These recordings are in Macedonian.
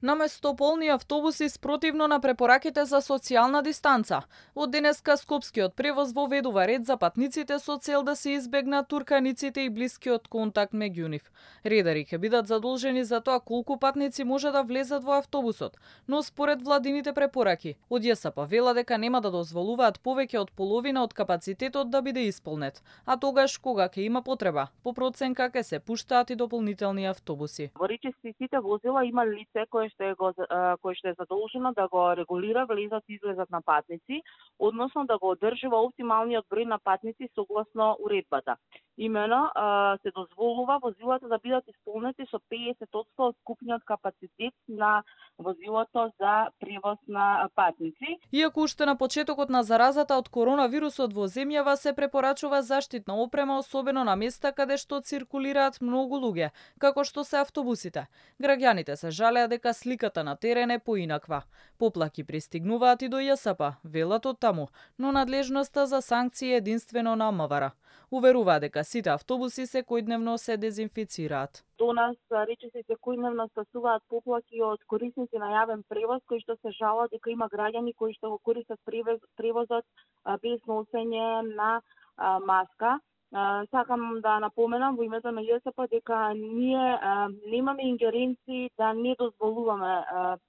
Наместо полни автобуси спротивно на препораките за социјална дистанца, од денеска Скопскиот превоз воведува ред за патниците со цел да се избегнат турканиците и блискиот контакт меѓу нив. Редари ќе бидат задолжени за тоа колку патници може да влезат во автобусот, но според владините препораки, од ЈСП вела дека нема да дозволуваат повеќе од половина од капацитетот да биде исполнет, а тогаш кога ќе има потреба, по проценка ќе се пуштаат и дополнителни автобуси. Во речиси сите возила има лице кое што е задолжено да го регулира влезот и излезот на патници, односно да го одржува оптималниот број на патници согласно уредбата. Имено се дозволува возилата да бидат исполнети со 50% од скупниот капацитет на возилото за превоз на патници. Иако уште на почетокот на заразата од коронавирусот во земјава се препорачува заштитна опрема, особено на места каде што циркулираат многу луѓе, како што се автобусите. Граѓаните се жалеа дека сликата на терен е поинаква. Поплаки пристигнуваат и до ЈСП, велат од таму, но надлежноста за санкции е единствено на МВР. Уверува дека сите автобуси секојдневно се дезинфицираат. До нас речиси секојдневно стасуваат поплаки од корисници на јавен превоз кои што се жалат дека има граѓани кои што го користат превозот без носење на маска. Сакам да напоменам во името на ЈСП дека ние немаме ингеренции да не дозволуваме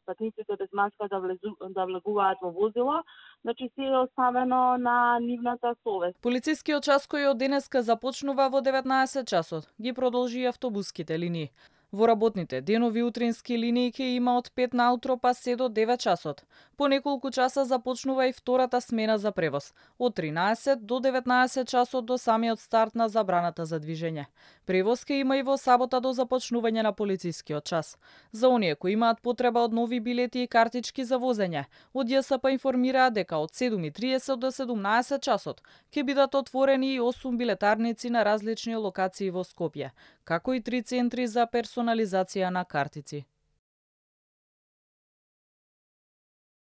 патниците без маска да влегуваат во возило, значи се е оставено на нивната совест. Полицискиот час кој од денеска започнува во 19 часот, ги продолжи и автобуските линии. Во работните денови утрински линии ќе има од 5 наутро па се до 9 часот. По неколку часа започнува и втората смена за превоз, од 13 до 19 часот до самиот старт на забраната за движење. Превоз ќе има и во сабота до започнување на полицискиот час. За оние кои имаат потреба од нови билети и картички за возење, од ЈСП информираа дека од 7:30 до 17 часот ќе бидат отворени и 8 билетарници на различни локации во Скопје, како и 3 центри за персонализација на картици.